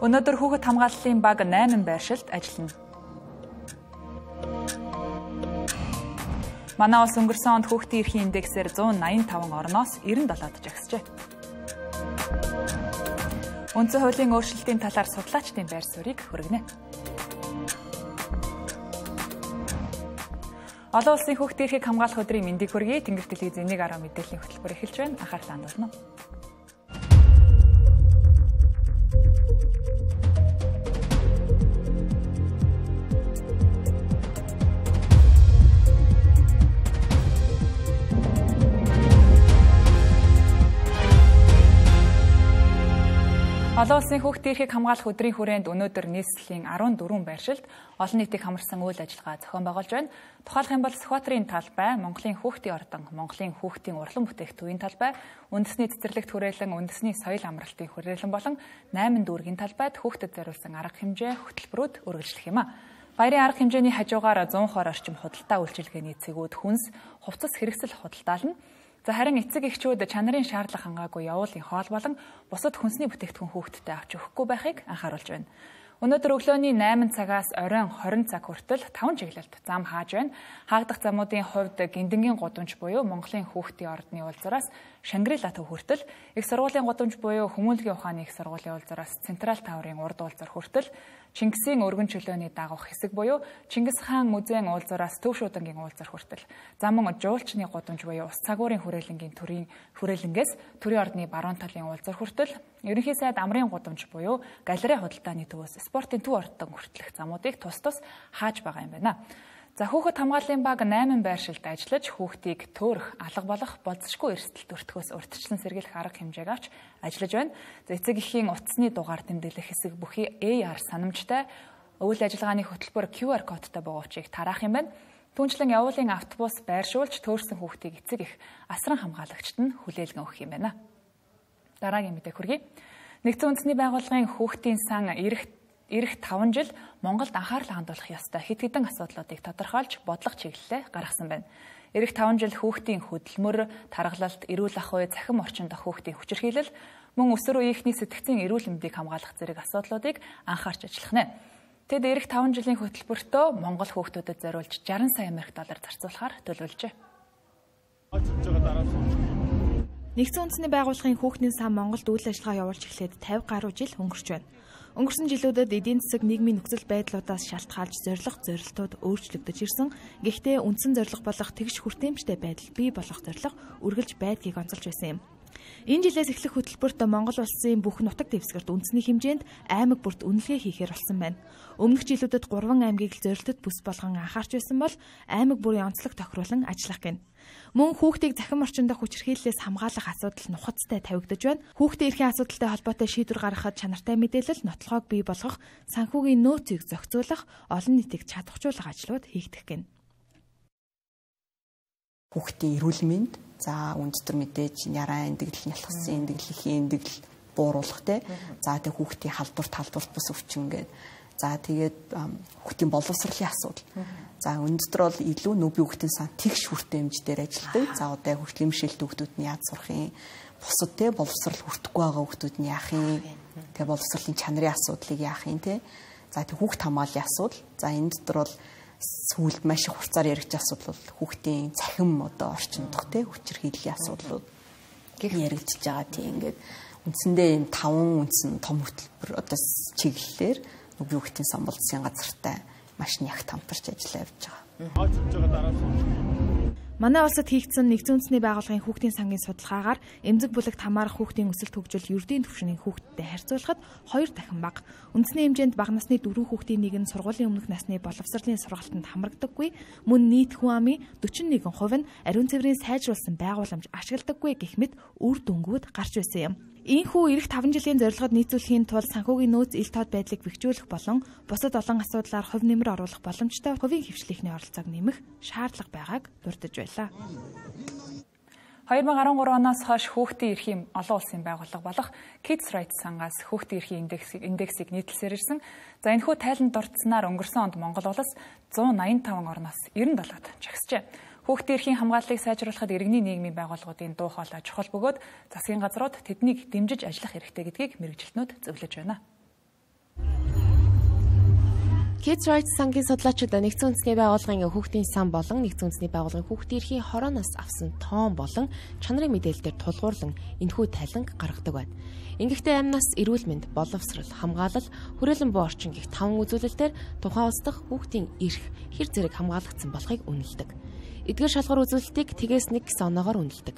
Өнөөдөр хүүхэд хамгааллын баг 8 байршилд ажиллана. Манай улс өнгөрсөн онд хүүхдийн эрхийн индексээр 185 орноос 97-д жагсжээ. Үндсэн хуулийн өөрчлөлтийн талаар судлаачдын байр суурийг хүргэнэ. Олон улсын хүүхдийн эрхийг хамгаалах өдрийн мэндийг хүргэе. Тэнгэр телевизийн 1.10 мэдээллийн хөтөлбөр эхэлж байна. Анхаарлаа хандуулна. Олон улсын хүүхдийн эрхийг хамгаалах өдрийн хүрээнд өнөөдөр нийслэлийн 14 байршилд олон нийтийг хамарсан үйл ажиллагаа зохион байгуулж байна. Тухайлх юм бол Сүхбаатарын талбай, Монголын хүүхдийн ордон, Монголын хүүхдийн урлан бүтээгдэхүүний талбай, үндэсний цэцэрлэгт хүрээлэн, үндэсний соёл амралтын хүрээлэн болон 8 дүүргийн талбайд хүүхдэд зориулсан арга хэмжээ хөтөлбөрүүд үргэлжлэх юм а. Баярын арга хэмжээний хажуугаар 100 орчим худалдаа үйлчилгээний цэгүүд хүнс, хувцас хэрэгсэл худалдаална. За харин эцэг эхчүүд чанарын шаардлага хангаагүй явуулын хоол болон бусад хүнсний бүтээгдэхүүн хүүхдтэй авч өгөхгүй байхыг анхааруулж байна. Өнөөдөр өглөөний 8 цагаас оройн 20 цаг хүртэл 5 чиглэлд зам хааж байна. Хаагдах замуудын хувьд Гиндэнгийн гудамж буюу Монголын хүүхдийн ордны уулзраас Шангрила төв хүртэл, их сургуулийн гудамж буюу Хүмүүнлэгийн ухааны их сургуулийн уулзраас Централ таврын урд уулзар хүртэл, Чингисийн өргөн чөлөөний дагах хэсэг буюу Чингис хаан музейн уулзраас Төв шуудангийн уулзар хүртэл, замун жуулчны гудамж буюу Ус цагуурын хүрээлэнгийн хүрээлэнгээс Төрийн ордны баруун талын уулзар хүртэл, ерөнхий сайд Амрын гудамж буюу галерей худалдааны төвөөс спортын төв ордон хүртэлх замуудыг тус хааж байгаа юм байна. За хүүхэд хамгааллын баг 8 байршилд ажиллаж хүүхдийг төөрөх, алга болох, болцсошгүй эрсдэлт өртгөөс урьдчилан сэргийлэх арга хэмжээг авч ажиллаж байна. За эцэг эхийн утасны дугаар тэмдэглэх хэсэг бүхий AR санамжтай үйл ажиллагааны хөтөлбөр QR кодтой богоочийг тараах юм байна. Түүнчлэн явуулын автобус байршуулж төөрсөн хүүхдийг эцэг эх асран хамгаалагчид нь хүлээлгэн өгөх юм байна. Дараагийн мэдээ хүргэе. Нэгдсэн үндэсний байгууллагын хүүхдийн сан ирэх 5 жил Монголд анхаарлаа хандуулах ёстой хэд хэдэн асуудлуудыг тодорхойлж бодлого чиглэлээ гаргасан байна. Ирэх 5 жил хүүхдийн хөдөлмөр, тархалалт, эрүүл ах уй, цахим орчин дох хүүхдийн хүчирхийлэл, мөн өсвөр үеийнхний сэтгцийн эрүүл мэндийг хамгаалах зэрэг асуудлуудыг анхаарч ажиллах нэ. Тэд ирэх 5 жилийн хөтөлбөртөө Монгол хүүхдүүдэд зориулж 60 сая америк доллар зарцуулахаар төлөвлөжээ. Нэгдсэн үндэсний байгууллагын хүүхдийн сан Монголд үйл ажиллагаа явуулж эхлээд 50 гаруй жил өнгөрч байна. Өнгөрсөн жилүүдэд эдийн засаг нийгмийн нөхцөл байдлуудаас шалтгаалж зорилтууд өөрчлөгдөж ирсэн. Гэхдээ үндсэн зорилго болох тэгш хүртээмжтэй байдал бий болох зорилго үргэлж байдгийг онцолж байсан юм. Энэ жилээс эхлэх хөтөлбөрт Монгол улсын бүх нутаг дэвсгэрт үндэсний хэмжээнд аймаг бүрт үнэлгээ хийхээр болсон байна. Өмнөх жилүүдэд 3 аймгийг л зорилтод бүс болгон анхаарч байсан бол аймаг бүрийн онцлог тохируулан ажиллах гэнэ. Мөн хүүхдийг захим орчин дох хүчирхийллээс хамгаалах асуудал нухацтай тавигдаж байна. Хүүхдийн эрхийн асуудалтай холбоотой шийдвэр гаргахад чанартай мэдээлэл, нотлохоог бий болгох, санхүүгийн нөөцийг зохицуулах, олон нийтийг чадахжуулах ажлууд хийгдэх гэнэ. Хүүхдийн эрүүл мэнд, за өндөдөр мэдээж нарийн эндэгдэл, нялхсан эндэгдэл, ихийн эндэгдэл бууруулах те. За тэг хүүхдийн халдварт бус өвчин гэдэг. За тэгээд хүүхдийн боловсролын асуудал. За өнөөдөр бол илүү нүби хүүхдийн сан тэгш хүртээмж дээр ажилладаг. За одоо хөгжлөмшөлт хүүхдүүд нь яаж сурах юм? Бусад те боловсрол хүртэхгүй байгаа хүүхдүүд нь яах юм? Тэгээ боловсролын чанарын асуудлыг яах юм те? За тэг хүүхд хамгааллын асуудал. За энэ дотор бол сүүлд маш их хурцаар яригдж асуудал бол хүүхдийн цахим одоо орчин дох те хүчирхийллийн асуудлууд яригдж байгаа тийм ингээд үндсэндээ энэ 5 үндсэн том хөтөлбөр одоо чиглэлээр нүби хүүхдийн сан боловсролын газартай маш нягт хамтарч ажиллаж явж байгаа. Манай улсад хийгдсэн нэгдсэн үндэсний байгууллагын хүүхдийн сангийн судалгаагаар эмзэг бүлэгт хамаарах хүүхдийн өсөлт хөгжил ердийн түвшний хүүхдтэй харьцуулахад 2 дахин бага. Үндэсний хэмжээнд бага насны 4 хүүхдийн нэг нь сургуулийн өмнөх насны боловсролын сургалтанд хамрагдаггүй, мөн нийт хүн амын 41% нь ариун цэврийн сайжруулсан байгууламж ашигладаггүй гэх мэт үр дүнгууд гарч байсан юм. Ийхүү ирэх 5 жилийн зорилгод нийцүүлэхийн тулд санхүүгийн нөөц ил тод байдлыг бэхжүүлэх болон бусад олон асуудлаар хувь нэмэр оруулах боломжтой хувийн хвшлийнхний оролцоог нэмэх шаардлага байгааг дурдж байлаа. 2013 оноос хойш хүүхдийн эрхийн олон улсын байгууллага болох Kids Rights сангаас хүүхдийн эрхийн индексийг нийтлсээр ирсэн. За энэхүү тайланд дурдсанаар өнгөрсөн онд Монгол улс 185 орноос 97-д жагсжээ. Хүүхдийн эрхийн хамгааллыг сайжруулахад иргэний нийгмийн байгууллагуудын дуу хоолой чухал бөгөөд засгийн газрууд тэднийг дэмжиж ажиллах хэрэгтэй гэдгийг мэргэжилтнүүд зөвлөж байна. Kids Rights сангийн судлаачид нэгдсэн үндэсний байгууллагын хүүхдийн сан болон нэгдсэн үндэсний байгууллагын хүүхдийн эрхийн хорооноос авсан тоон болон чанарын мэдээлэлээр тулгуурлан энэхүү тайланг гаргадаг байна. Ингэхдээ амнаас эрүүл мэнд, боловсрол, хамгаалал, хүрээлэн буй орчин гэх 5 үзүүлэлтээр тухайн улс дахь хүүхдийн эрх, хэр зэрэг хамгаалагдсан болохыг үнэлдэг. Эдгээр шалгуур үзүүлэлтийг тгээс 1 гэсэн оноогоор үнэлдэг.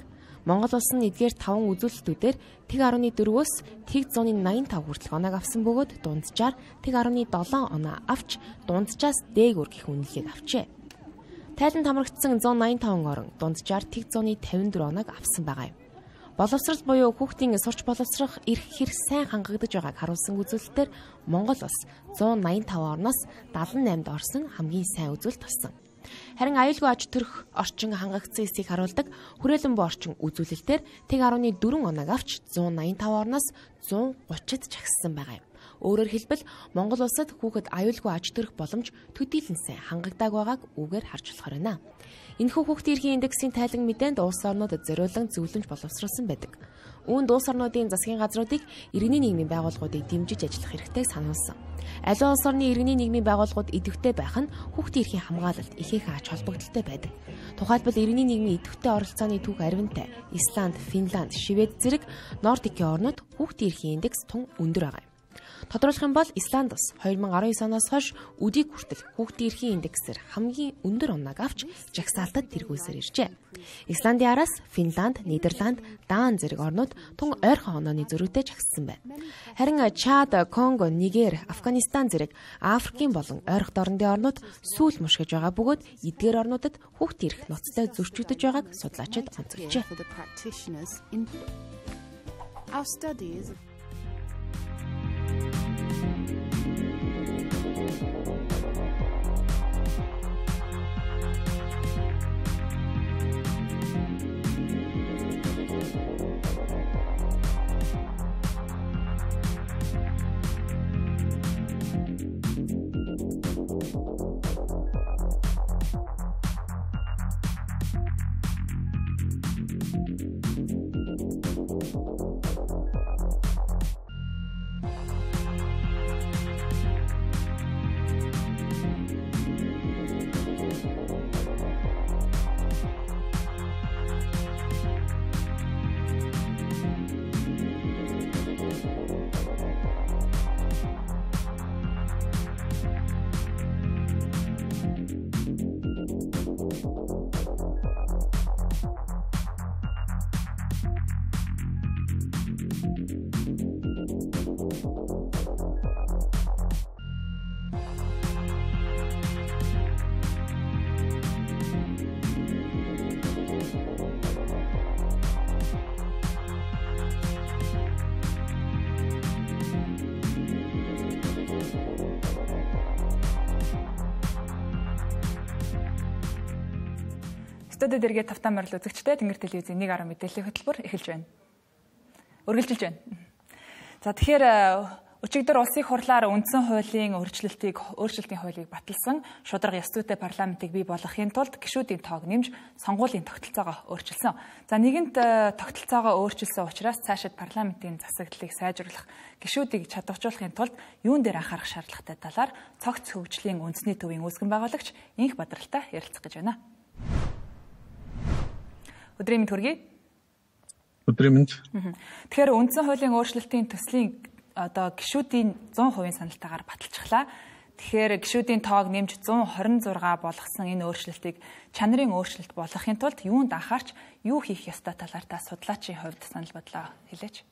Монгол улс нь эдгээр 5 үзүүлэлтүүдээр тэг 14-өөс тэг 185 хүртэлх оноог авсан бөгөөд дунджаар тэг 17 оноо авч дунджаас дээгүүр гэх үнэлгээг авчээ. Тайланд хамрагдсан 185 орон дунджаар тэг 154 оноог авсан байгаа юм. Боловсрал буюу хүүхдийн сурч боловсрох эрх хэр сайн хангагдаж байгааг харуулсан үзүүлэлтээр Монгол улс 185 орноос 78-д орсон хамгийн сайн үзүүлэлт болсон. Харин аюулгүй аж төрөх орчин хангагдсан эсийг харуулдаг хүрээлэн буй орчин үзүүлэлтээр тэг 14 оноог авч 185 орноос 130-д жагссан байгаа юм. Өөрөөр хэлбэл Монгол улсад хүүхэд аюулгүй аж төрөх боломж төдийлөн сайн хангагдааг байгааг үүгээр харж болохоор байна. Энэхүү хүүхдийн эрхийн индексийн тайлан мэдээнд улс орнуудад зориулан зөвлөмж боловсруулсан байдаг. Үүнд улс орнуудын засгийн газруудыг иргэний нийгмийн байгууллагуудыг дэмжиж ажиллах хэрэгтэйг сануулсан. Аливаа улс орны иргэний нийгмийн байгууллагууд идэвхтэй байх нь хүүхдийн эрхийн хамгаалалт ихээхэн ач холбогдолтой байдаг. Тухайлбал иргэний нийгмийн идэвхтэй оролцооны түүх Арвинтай, Исланд, Финланд, Швед зэрэг Нордикийн орнууд хүүхдийн эрхийн индекс тун өндөр байгаа юм. Тодорхойлох юм бол Исланд улс 2019 оноос хойш өдийг хүртэл хүүхдийн эрхийн индексээр хамгийн өндөр оноог авч жагсаалтад тэргүүлсээр иржээ. Исландын араас Финланд, Нидерланд, Дан зэрэг орнууд тун ойрхон онооны зөрүүтэй жагссан байна. Харин Чад, Конго, Нигер, Афганистан зэрэг Африкийн болон ойрхон дорнодын орнууд сүүл мушгиж байгаа бөгөөд эдгээр орнуудад хүүхдийн эрх ноцтой зөрчигдөж байгааг судлаачид онцолжээ. Студид эргээ тавтан морил үзэгчтэй Тэнгэр телевизийн 1 10 мэдээллийн хөтөлбөр эхэлж байна. Үргэлжилж байна. За тэгэхээр өчигдөр улсын хурлаар үндсэн хуулийн өөрчлөлтийн хуулийг баталсан шударга ёс зүйтэй парламентыг бий болгохын тулд гишүүдийн тоог нэмж сонгуулийн тогтолцоогоо өөрчилсөн. За нэгэнт тогтолцоогоо өөрчилсөн учраас цаашид парламентын засаглалыг сайжруулах, гишүүдийг чадваржуулахын тулд юун дээр анхаарах шаардлагатай талаар цогц хөгжлийн үндэсний төвийн үүсгэн байгуулагч Инх Бадралтай ярилцах гэж байна. Өдрийн мэнд хүргэе. Өдрийн мэнд. Тэгэхээр үндсэн хуулийн өөрчлөлтийн төслийн гишүүдийн 100% саналтаагаар баталчихлаа. Тэгэхээр гишүүдийн тоог нэмж 126 болгосон энэ өөрчлөлтийг чанарын өөрчлөлт болгохын тулд юунд анхаарч юу хийх ёстой талаар та судлаачийн хувьд санал бодлоо хэлээч.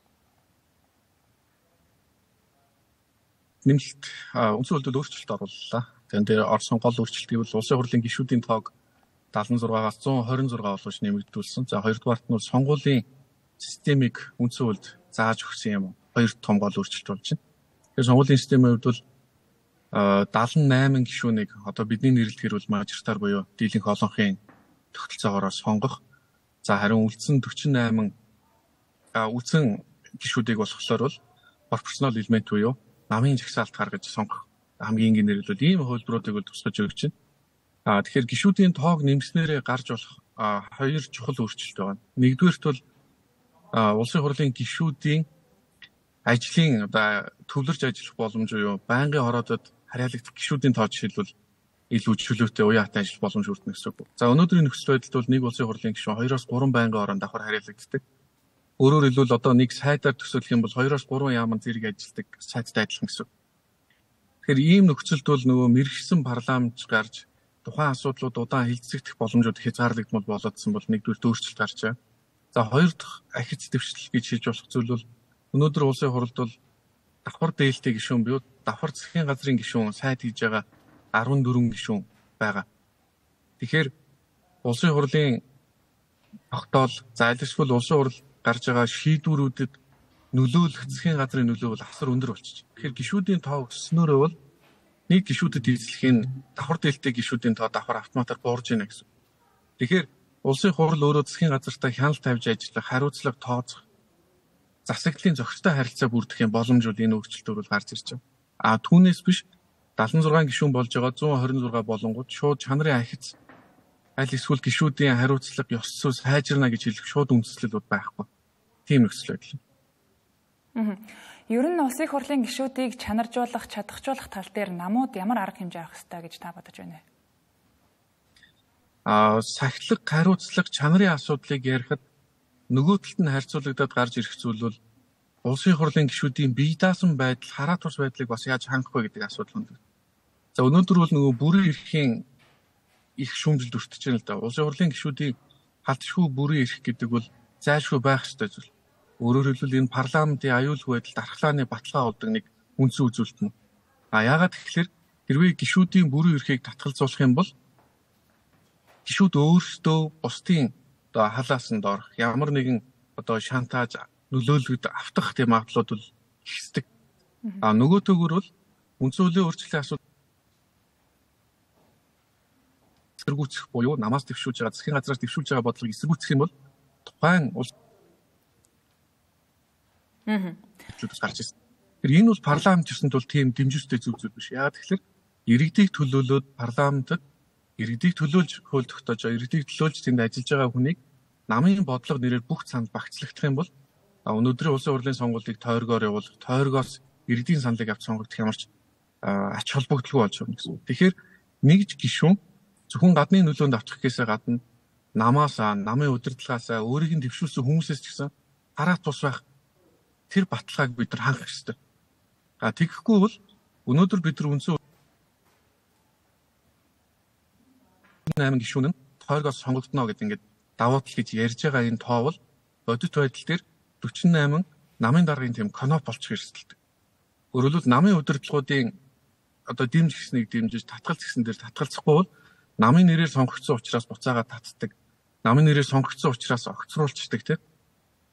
Нэмэлт үндсэн хуулиуд өөрчлөлт орууллаа. Тэгэн дээр орсон гол өөрчлөлтийг бол улсын хурлын гишүүдийн тоог 76-аас 126 болгож нэмэгдүүлсэн. За хоёрдугаарт нь сонгуулийн системийг үндсэн хуульд зааж өгсөн юм. Хоёр том гол өөрчлөлт болж байна. Тэгэхээр сонгуулийн системийн хувьд бол 78 гишүүнийг одоо бидний нэрлэхээр бол мажоритар буюу дийлэнх олонхын тогтолцоогоор сонгох. За харин үлдсэн 48 үлдсэн гишүүдийг болохоор бол пропорционал элемент буюу намын жагсаалт гаргаж сонгох хамгийн энгийнээр бол ийм хувилбаруудыг бол тусгаж өгч байна. Тэгэхээр гишүүдийн тоог нэмснээрээ гарч болох хоёр чухал өөрчлөлт байна. Нэгдүгээрт бол улсын хурлын гишүүдийн ажлын төвлөрж ажиллах боломж юу, байнгын хороодод харьяалагдах гишүүдийн тоо жишээлбэл илүү чөлөөтэй уяатай ажиллах боломж өртнө гэсэн үг. За өнөөдрийн нөхцөл байдалд бол нэг улсын хурлын гишүүн 2-3 байнгын орон давхар харьяалагддаг. Өөрөөр хэлбэл одоо нэг сайтаар төсөөлөх юм бол 2-3 яаман зэрэг ажилладаг сайттай адилхан гэсэн үг. Тэгэхээр ийм нөхцөлд бол нөгөө мэргэшсэн парламент гарч тухайн асуудлууд удаан хилцэгдэх боломжууд хязгаарлагдмал болоодсон бол нэгдүгээр өөрчлөлт гарч байгаа. За хоёр дахь ахиц дэвшлэл гэж хэлж болох зүйл бол өнөөдөр улсын хурлд бол давхар дээлтэй гишүүн буюу давхар засгийн газрын гишүүн сайд хийж байгаа 14 гишүүн байгаа. Тэгэхээр улсын хурлын тогтоол зайлшгүй улсын хурл гарч байгаа шийдвэрүүдэд нөлөөлөх засгийн газрын нөлөө бол асар өндөр болчих. Тэгэхээр гишүүдийн тоо өснөөрөө бол нэг гишүүдэд эзлэхийн давхар дээлтэй гишүүдийн тоо давхар автоматар буурж ийнэ гэсэн. Тэгэхээр улсын хурл өөрөө засгийн газартай хяналт тавьж ажиллах, хариуцлага тооцох, засаглалын зохистой харилцаа бүрдэх юм боломжууд энэ өөрчлөлтөөр бол гарч ирж байгаа. Түүнээс биш 76 гишүүн болж байгаа 126 болонгууд шууд чанарын ахиц аль эсвэл гишүүдийн хариуцлага ёс зүй сайжирна гэж хэлэх шууд үндэслэлүүд байхгүй. Тийм нөхцөл байдал. Ер нь улсын хурлын гишүүдийг чанаржуулах, чадахжуулах тал дээр намууд ямар арга хэмжээ авах ёстой гэж та бодож байна вэ? Сахилга, хариуцлага, чанарын асуудлыг ярихад нөгөө талд нь харьцуулагдаад гарч ирэх зүйл бол улсын хурлын гишүүдийн бие даасан байдал, хараа тус байдлыг бас яаж хангах вэ гэдэг асуудал байна. За өнөөдөр бол нөгөө бүрэн эрхийн их шүүмжлэлд өртөж байна л да. Улсын хурлын гишүүдийн халдшгүй бүрэн эрх гэдэг бол зайлшгүй байх ёстой зүйл. Өөрөөр хэлбэл энэ парламентын аюулгүй байдалд архлааны баталгаа болдог нэг үндсэн үзүүлэлт нь. Яагаад тэгэхээр хэрвээ гишүүдийн бүрэн эрхийг татгалзуулах юм бол гишүүд өөрсдөө бусдын халаасанд орох ямар нэгэн шантаж нөлөөлөлд автах тийм магадлалууд бол ихсдэг. Нөгөө төгөр бол үндсэн хуулийн өөрчлөлийн асуудал эсэргүүцэх буюу намаас дэвшүүлж байгаа засгийн газраас дэвшүүлж байгаа бодлогыг эсэргүүцэх юм бол тухайн улс гарч ирсэн. Тэгэхээр энэ бол парламент гэсэн тул тийм дэмжүүлэлттэй зүйл биш. Яагаад тэгэхээр иргэдийг төлөөлөөд парламентод иргэдийг төлөөлж хууль тогтоож байгаа, иргэдийг төлөөлж тэнд ажиллаж байгаа хүнийг намын бодлого нэрээр бүх цанд багцлагдах юм бол өнөөдрийн улсын хурлын сонгуулийг тойргоор явуулах, тойргоос иргэдийн саналыг авч сонгогдох ямарч ач холбогдолгүй болж байна гэсэн. Тэгэхээр нэгж гишүүн зөвхөн гадны нөлөөнд авчих гэхээсээ гадна намаасаа, намын удирдлагаасаа өөрийг нь дэвшүүлсэн хүмүүсээс ч гэсэн хараа тус байх тэр баталгааг бид нар хангах ёстой. Тэгэхгүй бол өнөөдөр бид нар үндсэн 8 гишүүн нь тойргоос сонгогдно гэдэг ингээд давуу тал гэж ярьж байгаа энэ тоо бол бодит байдал дээр 48 намын даргын тийм коноп болчих эрсдэлтэй. Өөрөлд намын удирдлагуудын дэмж гэснийг дэмжиж татгалц гэсэн дээр татгалцахгүй бол намын нэрээр сонгогдсон учраас буцаагаад татдаг. Намын нэрээр сонгогдсон учраас огцруулцдаг тийм.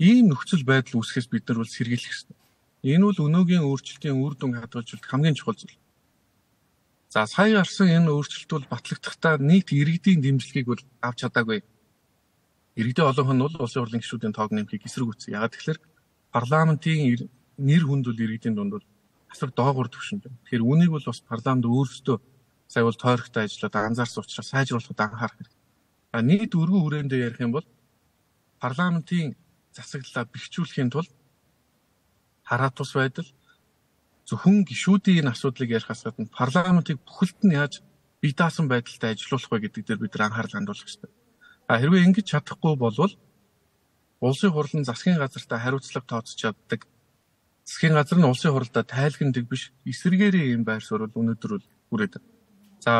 Ийм нөхцөл байдал үүсгэхээс бид нар бол сэргийлэх ёстой. Энэ бол өнөөгийн өөрчлөлтийн үр дүн хадгалж хамгийн чухал зүйл. За сая гарсан энэ өөрчлөлт бол батлагдахдаа нийт иргэдийн дэмжлэгийг бол авч чадаагүй. Иргэдийн олонх нь бол улсын хурлын гишүүдийн тоог нэмэхийг эсэргүүцсэн. Яагаад тэгэхээр парламентын нэр хүнд бол иргэдийн дунд бол асар доогуур түвшинд байна. Тэгэхээр үүнийг бол бас парламент өөрсдөө сая бол тойрогтой ажиллаад анзаарсан учраас сайжруулахад анхаарах хэрэгтэй. Нийт өргөн хүрээндээ ярих юм бол парламентын засаглалаа бэхжүүлэхийн тулд хараа тус байдал зөвхөн гишүүдийн энэ асуудлыг ярихаас гадна парламентыг бүхэлд нь яаж бие даасан байдалтай ажиллуулах вэ гэдэг дээр бид анхаарал хандуулах хэрэгтэй. Хэрвээ ингэж чадахгүй болвол улсын хурл нь засгийн газартай хариуцлага тооцож чаддаг. Засгийн газар нь улсын хурлдаа тайлхнадаг биш эсэргээрээ юм байр суурь өнөөдөр бол хүрээд байна. За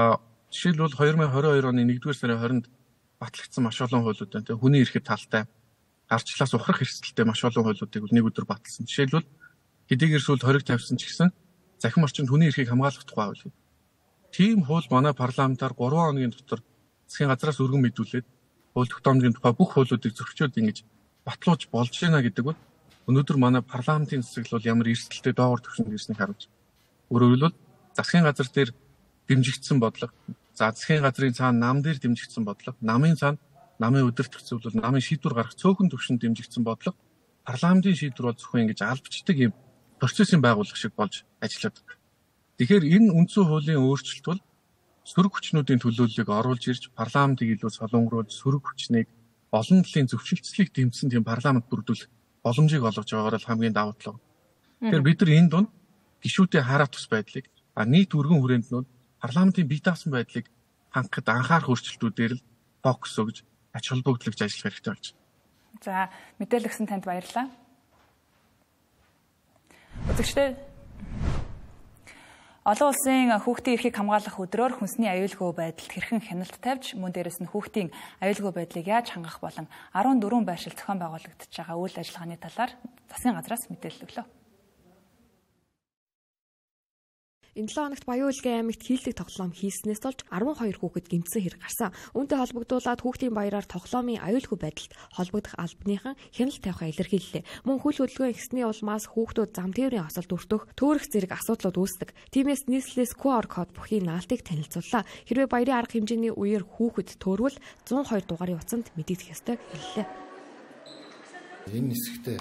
жишээлбэл 2022 оны 1-р сарын 20-нд батлагдсан маш олон хуулиуд байна. Хүний эрхэт талтай гарчлаас ухрах эрсдэлтэй маш олон хуулиудыг нэг өдөр баталсан. Жишээлбэл хэдийгээр сүүлд хориг тавьсан ч гэсэн захин орчинд хүний эрхийг хамгаалах тухай хууль. Тийм хууль манай парламентаар 3 хоногийн дотор засгийн газраас өргөн мэдүүлээд хууль тогтоомжийн тухай бүх хуулиудыг зөрчөөд ингэж батлуулж болж байна гэдэг бол өнөөдөр манай парламентын засаглал ямар эрсдэлтэй доогуур түвшинд ирснийг харуулж. Өөрөөр хэлбэл засгийн газар дээр дэмжигдсэн бодлого, засгийн газрын цаана нам дээр дэмжигдсэн бодлого, намын цаана намын өдөртөх зөвлөл, намын шийдвэр гаргах цөөхөн түвшинд дэмжигдсэн бодлого парламентын шийдвэр бол зөвхөн ингэж албачдаг юм процессын байгууллага шиг болж ажиллаад байна. Тэгэхээр энэ үндсэн хуулийн өөрчлөлт бол сөрөг хүчнүүдийн төлөөллийг оруулж ирж парламентыг илүү солонгоруулж сөрөг хүчнийг олон талын зөвшөлтслийг дэмжсэн тийм парламент бүрдүүлэх боломжийг олгож байгаагаар л хамгийн давуу тал. Тэгэхээр бид нар энэ дунд гишүүдийн хараа тус байдлыг нийт өргөн хүрээнднүүд парламентын бие даасан байдлыг хангахад анхаарах өөрчлөлтүүдээр л фокус өгж ач холбогдолж ажиллах хэрэгтэй болж байна. За, мэдээлэл өгсөн танд баярлалаа. Үзэгчдээ олон улсын хүүхдийн эрхийг хамгаалах өдрөөр хүнсний аюулгүй байдалд хэрхэн хяналт тавьж мөн дээрэс нь хүүхдийн аюулгүй байдлыг яаж хангах болон 14 байршил зохион байгуулагдаж байгаа үйл ажиллагааны талаар засгийн газраас мэдээлэл өглөө. Энэ 7 хоногт Баян-Улгийн аймагт хийлдэг тоглоом хийснээс болж 12 хүүхэд гэмтсэн хэрэг гарсан. Үүнтэй холбогдуулаад хүүхдийн баяраар тоглоомын аюулгүй байдалд холбогдох албаныхан хяналт тавихаа илэрхийллээ. Мөн хөл хөдөлгөөний хэсний улмаас хүүхдүүд зам тээврийн осолд өртөх, төөрөх зэрэг асуудлууд үүсдэг. Тиймээс нийслэлээс QR код бүхий наалтыг танилцууллаа. Хэрвээ баярын арга хэмжээний үеэр хүүхэд төөрвөл 102 дугаарын утсанд мэдэгдэх ёстой хэллээ. Энэ хэсэгтээ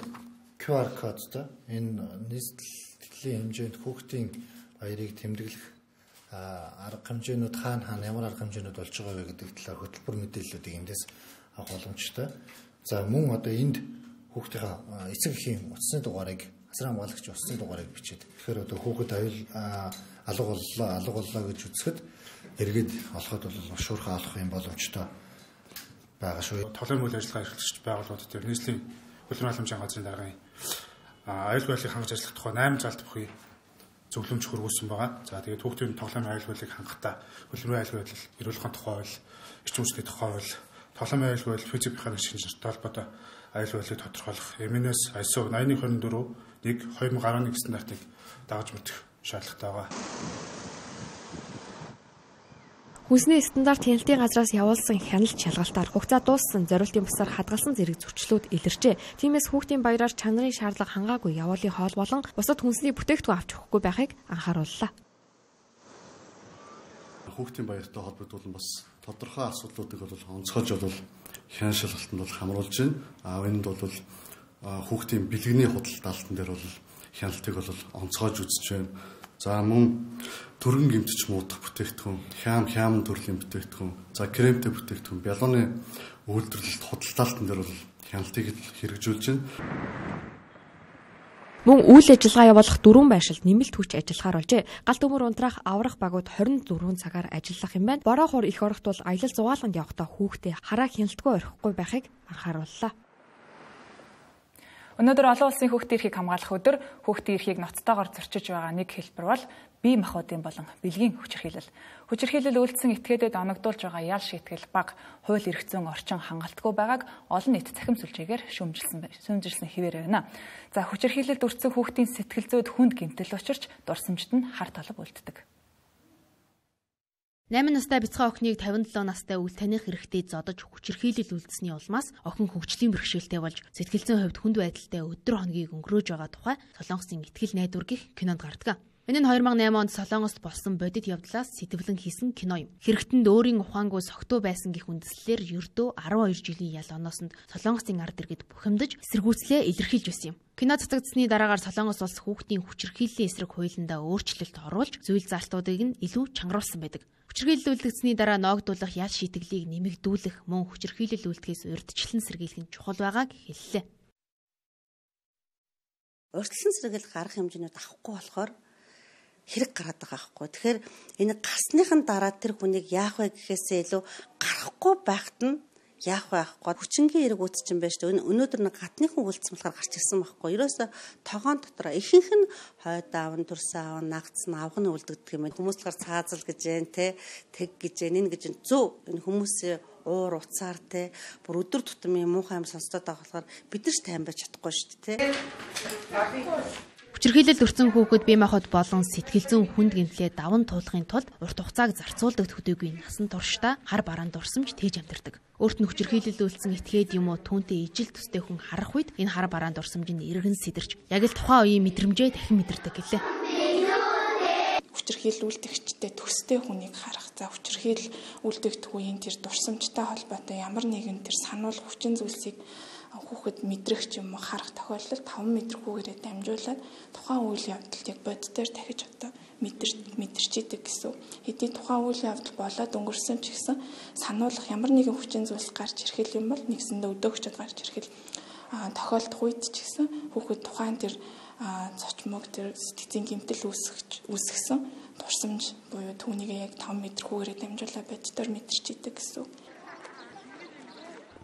QR кодтой энэ нийслэлийн хэмжээнд хүүхдийн баярыг тэмдэглэх арга хэмжээнүүд хаана ямар арга хэмжээнүүд болж байгаа вэ гэдэг талаар хөтөлбөр мэдээллүүдийг эндээс авах боломжтой. За мөн одоо энд хүүхдийн эцэг эхийн утасны дугаарыг асран хамгаалагч утасны дугаарыг бичээд тэгэхээр одоо хүүхэд алга боллоо гэж үзэхэд эргээд олоход бол шуурхаа олох юм боломжтой байгаа шүү. Тоглоомын үйл ажиллагаа эрхлэгч байгууллагууд дээр нийслэлийн хөлбөмбөгийн халамжийн газрын даргын аюулгүй байдлыг хангаж ажиллах тухай 8 залт бүхий зөвлөмж хөрвүүлсэн байгаа. За тэгээд хүүхдийн тоглоомын аюулгүй байдлыг хангахтаа хөлбөмбөгийн аюулгүй байдал, эрүүл ухааны тухай хууль, эрчим хүчний тухай хууль, тоглоомын аюулгүй байдал, физик механик шинжилгээтэй холбоотой аюулгүй байдлыг тодорхойлох MNS ISO 8124-1/2011 стандартыг дагаж мэдэх шаардлагатай байгаа. Хүнсний стандарт хяналтын газраас явуулсан хяналт шалгалтаар хугацаа дууссан зориултын бусаар хадгалсан зэрэг зөрчлүүд илэрчээ. Тиймээс хүүхдийн баяраар чанарын шаардлага хангаагүй явуулын хоол болон бусад хүнсний бүтээгдэхүүн авч өгөхгүй байхыг анхаарууллаа. Хүүхдийн баяртай холбогдуулан бас тодорхой асуудлуудыг бол онцгойж бол хяналт шалгалтанд бол хамруулж байна. Энд бол хүүхдийн бэлгэний худалдаалтан дээр бол хяналтыг бол онцгойж үзэж байна. За мөн төргөн гэмтэж муудах бүтээгдэхүүн, хям төрлийн бүтээгдэхүүн, за кремтэй бүтээгдэхүүн, бялууны үйлдвэрлэлт худалдаалтан дээр бол хяналтыг хэрэгжүүлж байна. Мөн үйл ажиллагаа явуулах 4 байршилд нэмэлт хүч ажиллахаар болжээ. Галт өмөр унтраах аврах багууд 24 цагаар ажиллах юм байна. Бороо хор их орохт бол аялал зугаалганд явахдаа хүүхдээ хараа хяналтгүй орхихгүй байхыг анхаарууллаа. Өнөөдөр олон улсын хүүхдийн эрхийг хамгаалах өдөр хүүхдийн эрхийг ноцтойгоор зөрчиж байгаа нэг хэлбэр бол бие махбодын болон бэлгийн хүчирхийлэл. Хүчирхийлэл үйлдсэн этгээдэд оногдуулж байгаа ял шийтгэл баг хууль эрх зүйн орчин хангалтгүй байгааг олон нийт цахим сүлжээгээр шүүмжилсэн хэвээр байна. За хүчирхийлэлд өртсөн хүүхдийн сэтгэл зүйд хүнд гэмтэл учирч дурсамжид нь хар талб үлддэг. 8 настай бяцхан охиныг 57 настай үл таних хэрэгтэй зодож хүчирхийлэл үлдсэний улмаас охин хөгжлийн бэрхшээлтэй болж сэтгэл зүйн хувьд хүнд байдалтай өдөр хоногийг өнгөрөөж байгаа тухай Солонгосын итгэл найдвар гэх кинонд гардаг. Энэ нь 2008 онд Солонгост болсон бодит явдлаас сэтвэлэн хийсэн кино юм. Хэрэгтэнд өөрийн ухаангүй согтуу байсан гэх үндслээр ердөө 12 жилийн ял оноосонд Солонгосын ард иргэд бухимдаж эсэргүүцлээ илэрхийлж байсан юм. Кино цацагдсны дараагаар Солонгос улс хүүхдийн хүчирхийллийн эсрэг хуулиндаа өөрчлөлт оруулж зүйл заалтуудыг нь илүү чангаруулсан байдаг. Хүчирхийлэл үлдгэсний дараа ноогдуулах ял шийтгэлийг нэмэгдүүлэх мөн хүчирхийлэл үлдэхээс урьдчилан сэргийлэх нь чухал байгааг хэллээ. Урьдчилан сэргийлэх арга хэмжээнүүд авахгүй болохоор хэрэг гараад байгаа байхгүй. Тэгэхээр энэ гарсныхан дараа тэр хүнийг яах вэ гэхээсээ илүү гарахгүй байхад нь яах вэ ахгүй. Хүчингийн эрэг үүсчин байж тээ. Өнөөдөр нэг гадныхан үлдсэн болохоор гарч ирсэн байхгүй. Ерөөсө тогоон дотор ихэнх нь хойд аавн, төрсөн аавн, нагдсан авганы үлдэгдэх юм. Хүмүүс болохоор цаазал гэж байна те. Тэг гэж байна. Энэ гэж зөв энэ хүмүүсийн уур уцаар те. Бүр өдөр тутмын муухай юм сонсдод байгаа болохоор бид нар ч тайван байж чадахгүй шүү дээ те. Хүчирхийлэлд өртсөн хүүхэд бие махбод болон сэтгэл зүйн хүнд гэмтлээ даван туулахын тулд урт хугацааг зарцуулдаг төдийгүй насан туршдаа хар бараанд дурсамж тээж амьдардаг. Өөрт нь хүчирхийлэлд үлдсэн этгээд юм уу түүнтэй ижил төстэй хүн харах үед энэ хар бараанд дурсамж нь эргэн сэтэрч яг л тухайн үеийн мэдрэмжээ дахин мэдэрдэг гэлээ. Хүчирхийлэл үлдэгчтэй төстэй хүнийг харах. За хүчирхийлэл үлдэгдэх үеийн тэр дурсамжтай холбоотой ямар нэгэн тэр сануул хүчин зүйлсийг хүүхэд мэдрэх ч юм уу харах тохиолдолд 5 мэдрэггүйгээр дамжуулаад тухайн үйл явдалд яг бод дээр дахиж одоо мэдэрч идэг гэсэн. Хэдий тухайн үйл явдал болоод өнгөрсөн ч гэсэн сануулгах ямар нэгэн хүчин зүйлс гарч ирэх юм бол нэгсэндээ өдөөгчд гарч ирэх тохиолдох үед ч гэсэн хүүхэд тухайн тэр цочмог тэр сэтгцийн гэмтэл үүсгэсэн турсамж буюу түүнийг яг 5 мэдрэггүйгээр дамжуулаад бод дээр мэдэрч идэг гэсэн.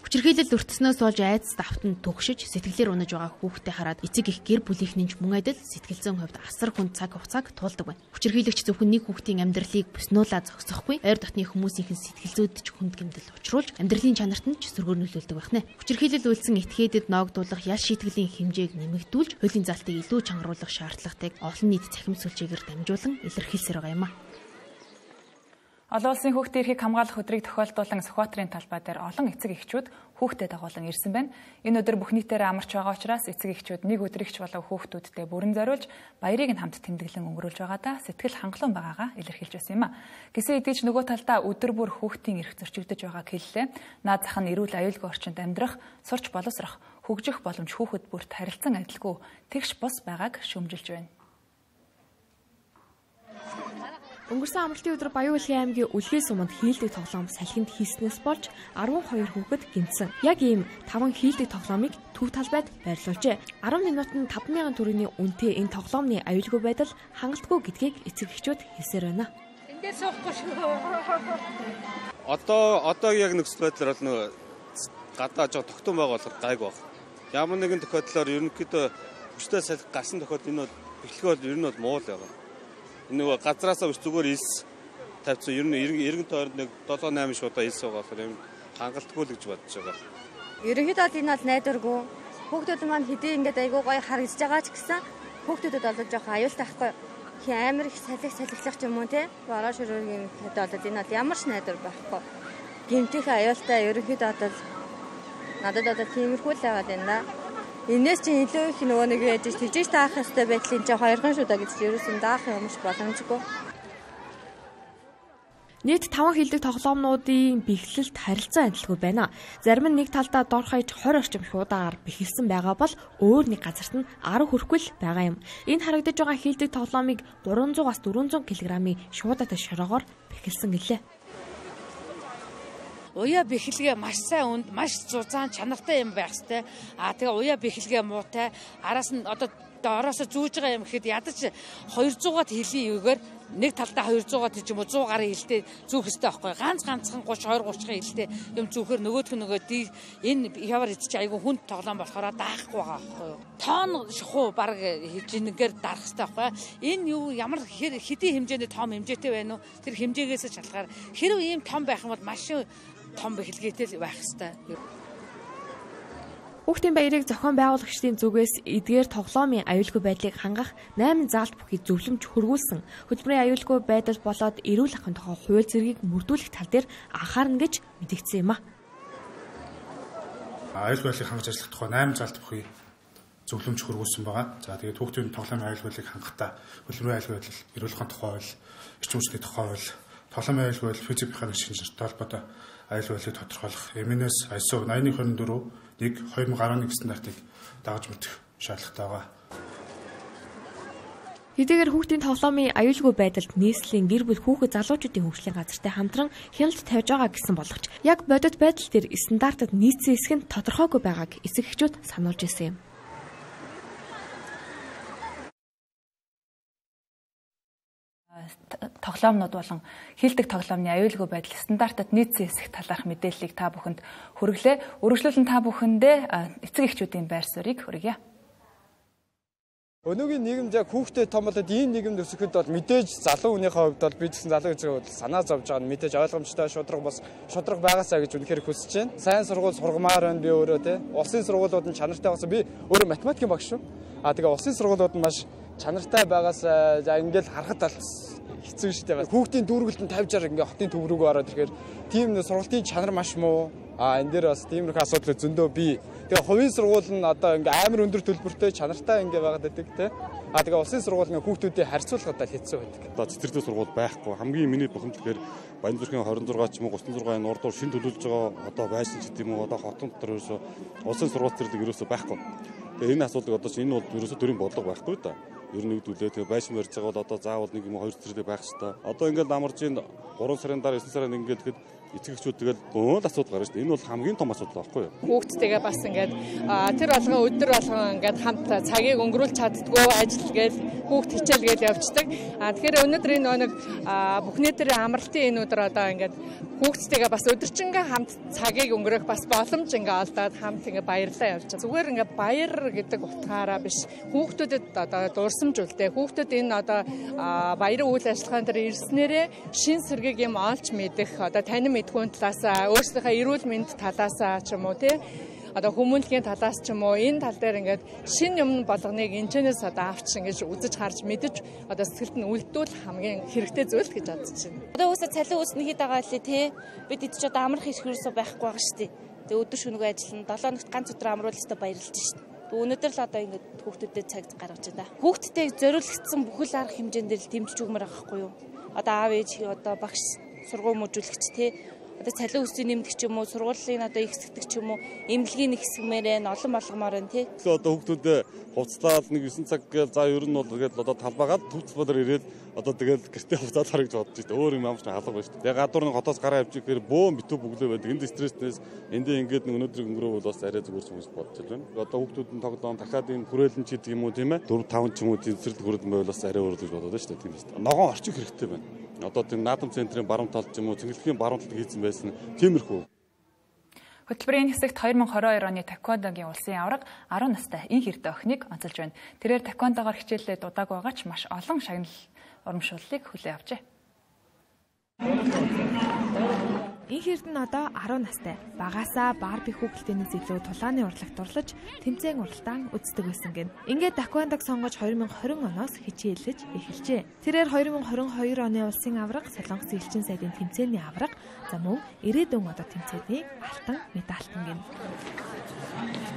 Хүчирхийлэл өртснөөс болж айдас давтанд түгшиж сэтгэлээр унаж байгаа хүүхдэд хараад эцэг их гэр бүлийнхний мөн адил сэтгэл зүйн хувьд асар хүн цаг хугацааг туулдаг байна. Хүчирхийлэгч зөвхөн нэг хүүхдийн амьдралыг бүснүүлээ зогсохгүй, ойр дотны хүмүүсийн сэтгэл зүйд ч хүнд гэмтэл учруулж амьдралын чанарт нь ч сөргөөр нөлөөлдөг байна. Хүчирхийлэл үйлсэн этгээдэд ноогдуулах ял шийтгэлийн хэмжээг нэмэгдүүлж, хуулийн залтыг илүү чангаруулах шаардлагатайг олон нийт цахим сүлжээгээр дамжуулан илэрхийлсээр байгаа юм а. Олон улсын хүүхдийн эрхийг хамгаалах өдрийг тохиолдуулан Сүхбаатарын талбай дээр олон эцэг эхчүүд хүүхдэд дагуулan ирсэн байна. Энэ өдөр бүх нийтээр амарч байгаа учраас эцэг эхчүүд нэг өдрөгч болов хүүхдүүдтэй бүрэн зориулж баярыг нь хамт тэмдэглэн өнгөрүүлж байгаадаа сэтгэл хангалуун байгаагаа илэрхийлж байсан юм а. Гэсэн хэдий ч нөгөө талдаа өдөр бүр хүүхдийн эрх зөрчигдөж байгааг хэллээ. Наад зах нь эрүүл аюулгүй орчинд амьдрах, сурч боловсрох, хөгжих боломж хүүхэд бүрт харилцан адилгүй тэгш бус байгааг шүүмжилж байна. Өнгөрсөн амралтын өдөр Баян-Улгийн аймгийн Үлгий суманд хийлдэг тоглоом салхинд хийснээс болж 12 хүүхэд гэмтсэн. Яг ийм 5 хийлдэг тоглоомыг төв талбайд байрлуулжээ. 10 минутанд 5,000 төгрөгийн үнэтэй энэ тоглоомны аюулгүй байдал хангалтгүй гэдгийг эцэг эхчүүд хэлсээр байна. Эндээ суухгүй шүү. Одоо яг нөхцөл байдлаар бол нөгөө гадаа жоо тогтун байгаа болохоор гайг баг. Ямар нэгэн тохиолдлоор ерөнхийдөө хүчтэй салхи гарсан тохиолдолд энэ бэлтгэл бол ер нь бол муу л байгаа. Нөгөө газраасаа зүгээр илс тавьсан ер нь эргэн тойронд нэг 7-8 шуудаа илс байгаа болохоор юм хангалтгүй л гэж бодож байгаа. Ерөнхийдөө энэ бол найдваргүй. Хүүхдүүд маань хэдий ингээд айгүй гоё харагдаж байгаа ч гэсэн хүүхдүүдэд бол жоох аюултай байхгүй. Хи амар их салхилах ч юм уу те. Бороо ширүүгийн хэд бол энэ бол ямар ч найдвар байхгүй. Гэмтэх аюултай ерөнхийдөө бол надад одоо тиймэрхүү л байгаа юм да. Энээс чи илүү их нөгөө нэг яаж тэгжиж таах хэвээр байдлын чи хоёрхан шүү да гэж ерөөсөн даах юмш боломжгүй. Нийт 5 хийлдэг тоглоомнуудын бэхлэлт харилцан адилгүй байна. Зарим нь нэг талдаа дор хаяж 20 орчим шуудаагаар бэхэлсэн байгаа бол өөр нэг газарт нь 10 хүрэхгүй л байгаа юм. Энэ харагдаж байгаа хийлдэг тоглоомыг 300-аас 400 кг-ийн шуудаатай шороогоор бэхэлсэн гэлээ. Уяа бэхлэгээ маш сайн үнд, маш зузаан чанартай юм байх хэвээр. Тэгээ уяа бэхлэгээ муутай, араас нь одоо доороос зүүж байгаа юм гэхэд ядаж 200-аад хэлийгээр нэг талдаа 200-аад ч юм уу 100 гаруй хэлтэй зүүх хэрэгтэй байхгүй. Ганцхан 30-20-30 хэлтэй юм зүүхээр нөгөөх нь энэ яваар идчих айгу хүнд тоглоом болохоор даахгүй байгаа байхгүй юу. Тоон шахуу баг хижингээр дарах хэрэгтэй байхгүй. Энэ юу ямар хэдийн хэмжээний том хэмжээтэй байна уу? Тэр хэмжээгээс шалтгаар хэрв ийм том байх юм бол машин том бэхлэгээтэй байх хэвээр. Хүүхдийн баярыг зохион байгуулагчдын зүгээс эдгээр тоглоомын аюулгүй байдлыг хангах 8 заалт бүхий зөвлөмж хөргүүлсэн. Хөтөлбөрийн аюулгүй байдал болоод эрүүл ахуйн тухай хууль зэргийг мөрдүүлэх тал дээр анхаарна гэж мэдгдсэн юм а. Аюулгүй байдлыг хангаж ажиллах тухай 8 заалт бүхий зөвлөмж хөргүүлсэн байгаа. За тэгээд хүүхдийн тоглоомын аюулгүй байдлыг хангахтаа хөтөлбөрийн аюулгүй байдал, эрүүл ахуйн тухай хууль, эрчим хүчний тухай хууль, тоглоомын аюулгүй байдал, физик механик шинжилгээтэй холбоотой аюулгүй байдлыг тодорхойлох MNS ISO 8024-1/2011 стандартыг дагаж мэдэх шаардлагатай байгаа. Хэдийгээр хүүхдийн тоглоомын аюулгүй байдалд нийслэлийн гэр бүл хүүхэд залуучуудын хөгжлийн газартай хамтран хяналт тавьж байгаа гэсэн боловч яг бодит байдал дээр стандартад нийцсэн хэсэг нь тодорхойгүй байгааг эцэг эхчүүд сануулж ирсэн юм. Тоглоомнууд болон хийлдэг тоглоомны аюулгүй байдал стандартад нийцсэн хэсэг талаарх мэдээллийг та бүхэнд хүргэлээ. Үргэлжлүүлэн та бүхэндээ эцэг эхчүүдийн байр суурийг хүргье. Өнөөгийн нийгэмд яг хүүхдэд том болоод ийм нийгэмд өсөхэд бол мэдээж залуу хүнийхээ хувьд бол бид гэсэн залуу эцэг хувьд санаа зовж байгаа нь мэдээж ойлгомжтой шудраг байгаасаа гэж үнэхээр хүсэж байна. Сайн сургууль сургамаар байна би өөрөө те. Улсын сургуулиуд нь чанартай байсан. Би өөрөө математикийн багш шүү. Тэгээ улсын сургуулиуд нь маш чанартай байгаасаа за ингээл харахад бол хэцүү шүү дээ. Хүүхдийн дүүргэлтэн 50-60 ингээ хотын төв рүүгээ ороод ирэхээр тийм сургалтын чанар маш муу. Энэ дээр бас тиймэрхүү асуудал зөндөө би Тэгээ хувийн сургууль нь одоо ингээ амар өндөр төлбөртэй чанартай ингээ байгаад байдаг те. Тэгээ улсын сургууль ингээ хүүхдүүдийг харьцуулахад хэцүү байдаг. Одоо цэцэрлэг сургууль байхгүй. Хамгийн миний бухимдалгаар Баянзүрхийн 26 ч юм уу 36-ын урдуур шин төлөвлөж байгаа одоо байсан ч гэдэм үү одоо хотон дотор ерөөсө улсын сургууль зэрэг ерөөсө байхгүй. Тэгээ энэ асуудлыг одоо энэ бол ерөөсө төрийн бодлого байхгүй да. Ер нь нэгдүүлээ. Тэгээ байшин барьж байгаа бол одоо заавал нэг юм уу 2 цэцэрлэг байх хэрэгтэй. Одоо ингээд амарч ин 3 сарын дараа 9 сарын ингээд тэгэхэд эцэгчүүд тэгэл бөөн асуудал гарна шүү дээ. Энэ бол хамгийн том асуудал байхгүй юу? Хүүхдтэйгээ бас ингээд тэр болгон өдөр болгон ингээд хамт цагийг өнгөрүүлж чаддгүй ажил гээл хүүхд хичээлгээл явждаг. Тэгэхээр өнөөдөр энэ нэг бүхний төрлийн амралтын энэ өдөр одоо ингээд хүүхдтэйгээ бас өдөржингөө хамт цагийг өнгөрөх бас боломж ингээд олдоод хамт ингээд баярлаа явж байгаа. Зүгээр ингээд баяр гэдэг утгаараа биш. Хүүхдүүдэд одоо дурсамжуулдаг. Хүүхдүүд энэ одоо баярын үйл ажиллагаан дээр ирснээрээ шин сэргийг юм олж мэдэх одоо танин мэдхүүн талаасаа өөрсдийнхөө эрүүл мэнд талаасаа ч юм уу тий одоо хүмүүнлэгийн талаас ч юм уу энэ тал дээр ингээд шин юм болгоныг энэчнээс одоо авч ингэж үзэж харж мэдэж одоо сэтгэлд нь үлдвэл хамгийн хэрэгтэй зүйл гэж бодож байна. Одоо уусаа цалин үүснэ хэд байгаа лээ тий бид эд ч одоо амрах их хэрэгсээ байхгүй байгаа шүү дээ. Тэгээ өдөр шөнөгүй ажиллана 7 хоногт ганц өдөр амруулж өстө баярлж шүү дээ. Өнөөдөр л одоо ингээд хүүхдүүдэд цаг гаргаж байна. Хүүхдтэй зориулагдсан бүхэл арга хэмжээнд л дэмжиж өгмөр байгаа байхгүй юу? Одоо аав ээж одоо багш сургууль мөжүүлэгч тий одоо цалин өсвийн нэмдэг ч юм уу сургуулийн одоо их хэсэгдэг ч юм уу эмнэлгийн нэг хэсгмээр нь олон болгомоор нь тий одоо хүүхдүүд хувцлаад нэг 9 цаг гээл за ер нь бол тэгээд одоо талбайгаад төвцөлбөр ирээд одоо тэгээд гэртээ хувцаад харах гэж бодож байна. Өөр юм амарч халах байна шүү дээ. Тэгээд гадуур нь хотоос гараа авч ирэхээр бөөн битүү бүглөө байдаг. Энд стресснээс эндээ ингээд нэг өнөөдрийг өнгөрөөвөл бас арай зүгээр хүмүүс бодож байна. Одоо хүүхдүүд нь тоглоом дахиад энэ хүрээлэн ч гэдэг юм уу тийм ээ 4 5 ч юм уу зэрэг хүрээлэн байвал бас арай өөр гэж бодоод байна шүү дээ. Тийм ээ. Ногоон орчих хэрэгтэй байна. Одоо тийм наадам центрийн баруун талд ч юм уу цэнгэлэхийн баруун талд хийсэн байсан тиймэрхүү. Хөтөлбөрийн хэсэгт 2022 оны таеквондогийн улсын аварга 10 настай ин хэрдэ охиныг онцолж байна. Тэрээр таеквондогоор хичээлээ дудааг байгаа ч маш олон шагнал урамшууллыг хүлээн авчээ. Ин хэрдэ нь одоо 10 настай. Багаасаа барби хүүхэлдэйнээс илүү тулааны урлагт дурлаж, тэмцээн уралдаан үздэг байсан гэн. Ингээд таеквондог сонгож 2020 оноос хичээлж эхэлжээ. Тэрээр 2022 оны улсын аварга, Солонгос элчин сайдын тэмцээний аварга, за мөн ирээдүйн одоо тэмцээний алтан медальтан гэн.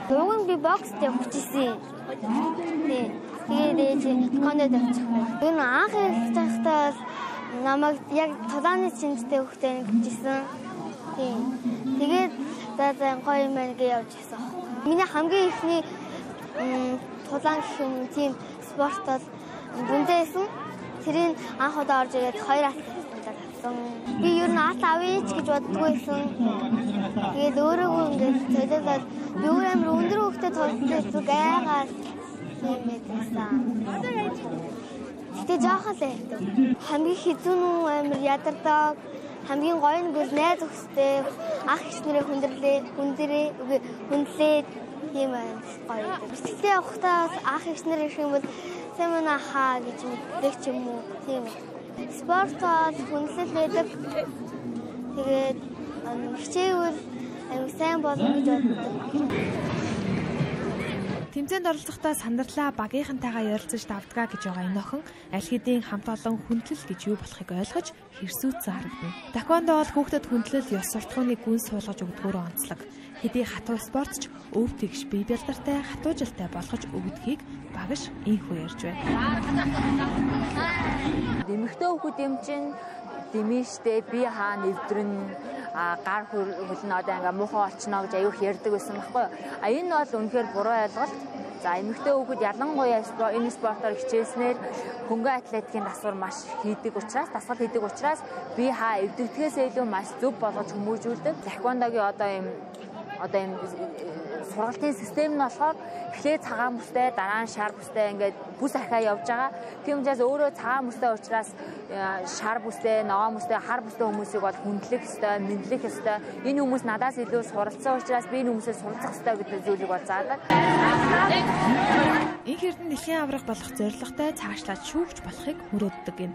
Дөрвөн би бокст явчихсан. Тэгээд таеквондод явчихсан. Энэ анх их тахтаа намайг яг тулааны шинжтэй хөхтэй нэгжсэн. Тэгээд за гоё юм байна гэж явж байсан. Миний хамгийн ихний тулаан гэх юм тийм спорт бол бүндэсэн. Тэрийг анх удаа орж ирээд 2 алт авсан. Би ер нь алт авъя ч гэж боддгүй байсан. Тэгээд өөрөөгөө ингээд төлөвлөд би өөр амар өндөр хөхтэй тоглож гайгаа юм байсан. Тэ жоохон л байдаг. Хамгийн хэцүү нь амар ядардаг. Хамгийн гоё нь бол найз өхстэй ах эгч нэрээ хүндлээ юм байна. Гоё. Бэлтгэлээ явахдаа ах эгч нэр ирэх юм бол сэмэн ахаа гэж мэддэг ч юм уу. Тийм. Спорт бол хүндлэл байдаг. Тэгээд хичээвэл аюу сайн болно гэж боддог. Тэмцээнд оролцохдоо сандралаа багийнхантайгаа ярилцаж давтгаа гэж байгаа энэ охин аль хэдийн хамт олон хүндлэл гэж юу болохыг ойлгож хэрсүүцсэн харагдана. Таеквондо бол хүүхдэд хүндлэл ёс суртахууны гүн суулгаж өгдгөөрөө онцлог. Хэдий хатуу спортч өв тэгш бие бэлдартай хатуужилтай болгож өгдгийг багш инхүү ярьж байна. Дэмэгтэй хүүхэд юм чинь дэмэжтэй би хаа нэвдрэн гар хөлн одоо ингээ муухай олчноо гэж аюух ярьдаг байсан байхгүй юу. Энэ бол үнэхээр буруу ойлголт. За эмэгтэй хүүхэд ялангуяа энэ спортоор хичээснээр хөнгөн атлетикийн дасгал маш хийдэг учраас би хаа эвдэгдэхээс илүү маш зөв болгож хүмүүжүүлдэг. Таеквондогийн одоо ийм сургалтын систем нь болохоор эхлээ цагаан бүстэй дараа нь шар бүстэй ингээд бүс ахаа явж байгаа. Тийм учраас өөрөө цагаан бүстэй учраас шар бүстэй, ногоон бүстэй, хар бүстэй хүмүүсийг бол хүндлэх ёстой, мэдлэх ёстой. Энэ хүмүүс надаас илүү суралцсан учраас би энэ хүмүүсээс суралцах ёстой гэдэг зүйлийг бол заадаг. Энэ хэрдэн дэлхийн аварга болох зорилготой цаашлаад шүүгч болохыг мөрөөддөг юм.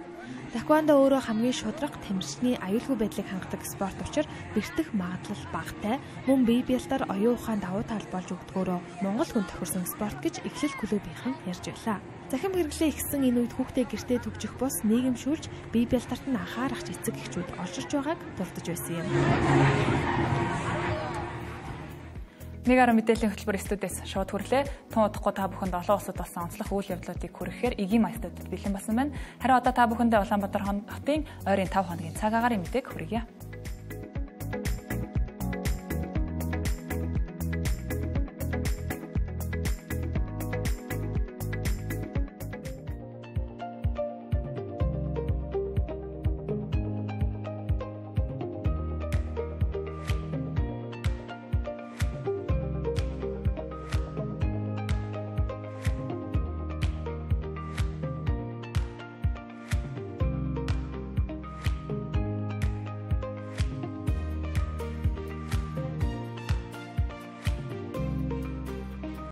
Таеквондо өөрөө хамгийн шударга тамирчны аюулгүй байдлыг хангадаг спорт учраас бэртэх магадлал багатай, мөн бие бэлдэр оюун ухаанд давуу тал болж өгдгөөрөө Монгол хүн тохирсон спорт гэж эхлэл клубийнхан ярьж байлаа. Захим хэрэглээ ихсэн энэ үед хүүхдээ гэртээ төгжих бус нийгэмшүүлж бие бэлдэрт нь анхаарах эцэг эхчүүд олширч байгааг дурдж байсан юм. Нэг арга мэдээллийн хөтөлбөр студиэс шууд хүрлээ. Тун удахгүй та бүхэнд олон улсад болсон онцлог үйл явдлуудыг хүрэхээр эгийн маягтуудад бэлэн болсон байна. Харин одоо та бүхэндээ Улаанбаатар хотын ойрын 5 хоногийн цаг агаарын мэдээг хүргье.